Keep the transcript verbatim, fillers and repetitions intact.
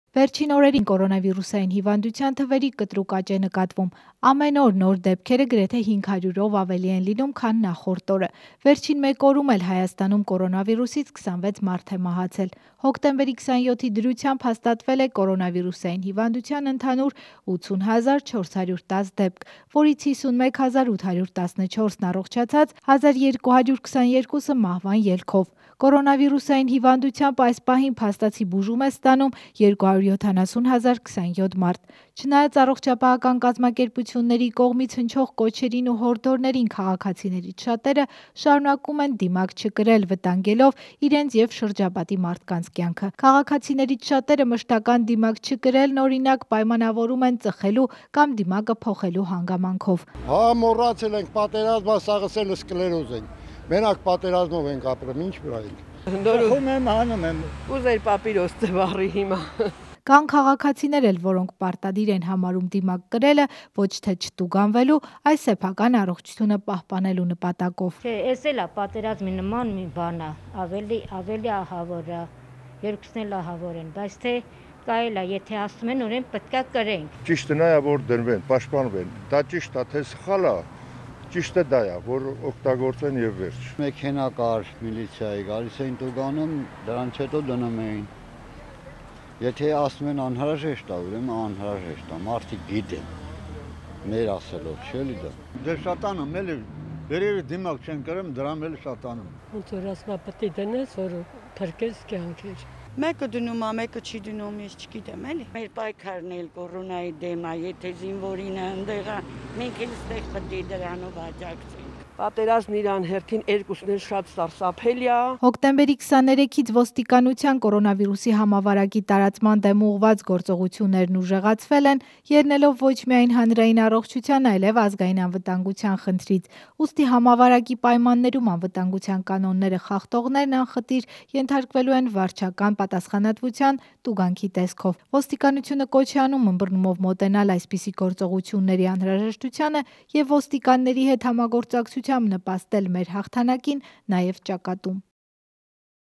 Վերջին օրերին կորոնավիրուսային հիվանդության թվերի կտրուկ աճ է նկատվում։ Ամեն օր նոր դեպքերը գրեթե հինգ հարյուրով ավելի են լինում, քան նախորդ օրը։ Վերջին մեկ օրում էլ Հայաստանում կորոնավիրուսից քսանվեց մարդ է մահացել։ Հոկտեմբերի քսանյոթի դրությամբ հաստատվել է կորոնավիրուսային հիվանդության ընդհանուր ութուն հազար չորս հարյուր տաս դեպք, որից հիսունմեկ հազար ութ հարյուր տասնչորսն առողջացած, հազար երկու հարյուր քսաներկուսը մահվան ելքով։ Կորոնավիրուսային հիվանդությամբ այս պահին փաստացի բուժում է ստանում երկու հարյուր յոթանասուն հազար քսանյոթ մարդ։ Չնայած առողջապահական կազմակերպությունների կողմից հնչող կոչերին ու հորդորներին, քաղաքացիներից շատերը շարունակում են դիմակ չկրել, վտանգելով իրենց եւ շրջապատի մարդկանց կյանքը։ Քաղաքացիներից շատերը մշտական դիմակ չկրելն օրինակ պայմանավորում են ծխելու կամ դիմակը փոխելու հանգամանքով։ Հա մոռացել ենք պատերազմը, սաղսել սկլերոզ ենք։ Մենակ պատերազմով ենք ապրում, ինչ վրա ենք։ Խում եմ, հանում եմ։ Ուզեր պապիրոս ծվարի հիմա։ Կան քաղաքացիներ էլ, որոնք պարտադիր են համարում դիմակ կրելը ոչ թե չտուգանվելու, այլ սեփական առողջությունը պահպանելու նպատակով։ Չէ, էս էլ է պատերազմի նման մի բան է, ավելի ավելի ահավոր է, երկուսն էլ ահավոր են, բայց թե կարելի է, եթե ասում են, ուրեմն պետք է կրենք։ Ճիշտն է, որ դնվեն, պաշտպանվեն։ Դա ճիշտ է, թե սխալ է։ Ճիշտը դա է, որ օգտագործեն եւ վերջ։ Մեքենա կար, միլիցիայի գալիս էին տուգանում, դրանից հետո դնում էին։ Եթե ասում են անհրաժեշտ է, ուրեմն անհրաժեշտ է, մարդիկ գիտեն, մեր ասելով, չէ՞ դա։ Դե շատանում էլի, վերևի դիմակ չեն կրում, դրամ էլ շատանում։ Ոնց որ ասма պետք է դնես, որ փրկես կյանքեր։ Մեկը դնում է, մեկը չի դնում, ես չգիտեմ էլի։ Մեր պայքարն էլ կորոնայի դեմ է, եթե զինվորինը ընդեղ է, մենք էլ ստեղ պետք է դրանով աջակցենք։ Պատերազմն իրան հերթին երկուսն էլ շատ սարսափելի է։ Հոկտեմբերի քսաներեքից ոստիկանության կորոնավիրուսի համավարակի տարածման դեմ ուղղված գործողություններն ուժեղացվել են, ելնելով ոչ միայն հանրային առողջության, այլև ազգային անվտանգության խնդրից։ Ուստի համավարակի պայմաններում անվտանգության կանոնները խախտողներն անխտիր ենթարկվելու են վարչական պատասխանատվության տուգանքի տեսքով։ Ոստիկանությունը կոչ է անում ըմբռնումով մոտենալ այսպիսի գործողությունների անհրաժեշտությանը եւ ոստիկանների հետ համագործակցությամբ նպաստել մեր հաղթանակին, նաև ճակատում։